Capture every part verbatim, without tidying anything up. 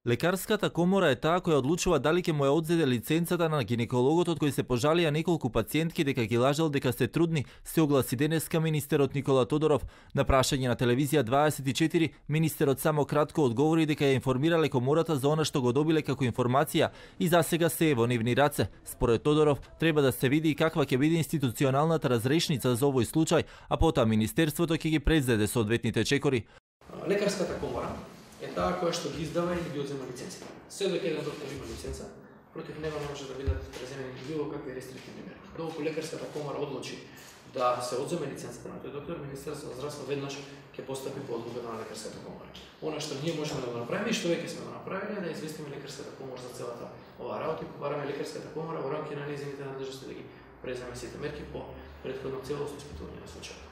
Лекарската комора е таа која одлучува дали ќе му ја одзеде лиценцата на гинекологот од кој се пожалија неколку пациентки дека ги лажал дека се трудни, се огласи денеска министерот Никола Тодоров. На прашање на телевизија дваесет и четири, министерот само кратко одговори дека ја информирале комората за она што го добиле како информација и засега се е во нивни раце. Според Тодоров, треба да се види и каква ќе биде институционалната разрешница за овој случај, а потоа министерството ќе ги презеде соодветните чекори. Лекарската комора е таа која што ги издава и ги одзема лиценци. Се додека еден доктор има лиценца, против него не може да бидат преземени било какви рестриктивни мерки. Доколку лекарската комора одлучи да се одземе лиценцата на тој доктор, Министерството за здравство веднаш ќе постапи по одлука на лекарската комора. Она што ние можеме да го направиме и што веќе сме го направиле е да известиме лекарската комора за целата оваа работа и побараме лекарската комора во рамки на нејзините надлежности да ги преземе сите мерки по претходно целосно испитување на случајот.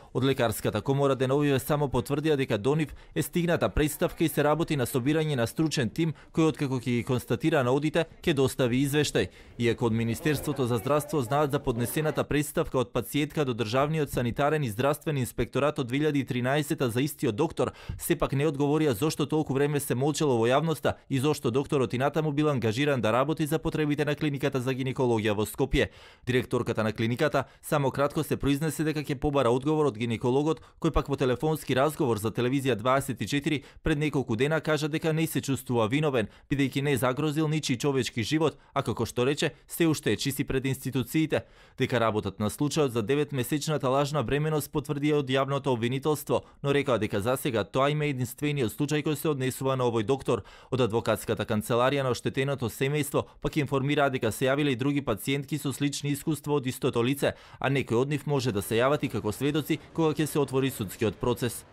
Од лекарската комора деновиве само потврдија дека до нив е стигната представка и се работи на собирање на стручен тим кој откако ќе ги констатира наодите ќе достави извештај. Иако од Министерството за здравство знаат за поднесената представка од пациентка до Државниот санитарен и здравствен инспекторат од две илјади и тринаесета за истиот доктор, сепак не одговорија зошто толку време се молчело во јавноста и зошто докторот и натаму бил ангажиран да работи за потребите на клиниката за гинекологија во Скопје. Директорката на клиниката само кратко се произнесе дека ќе побара одговор од гинекологот, кој пак во телефонски разговор за телевизија дваесет и четири пред неколку дена кажа дека не се чувствува виновен, бидејќи не загрозил ничи човечки живот, а како што рече, се уште е чист пред институциите. Дека работат на случајот за деветмесечната лажна бременост потврдија од јавното обвинителство, но рекаа дека засега тоа има единствениот случај кој се однесува на овој доктор. Од адвокатската канцеларија на оштетеното семејство пак информираа дека се јавиле и други пациентки со слични искуства од истото лице, а некои од нив може да се јават и како сведоци кога ќе се отвори судскиот процес.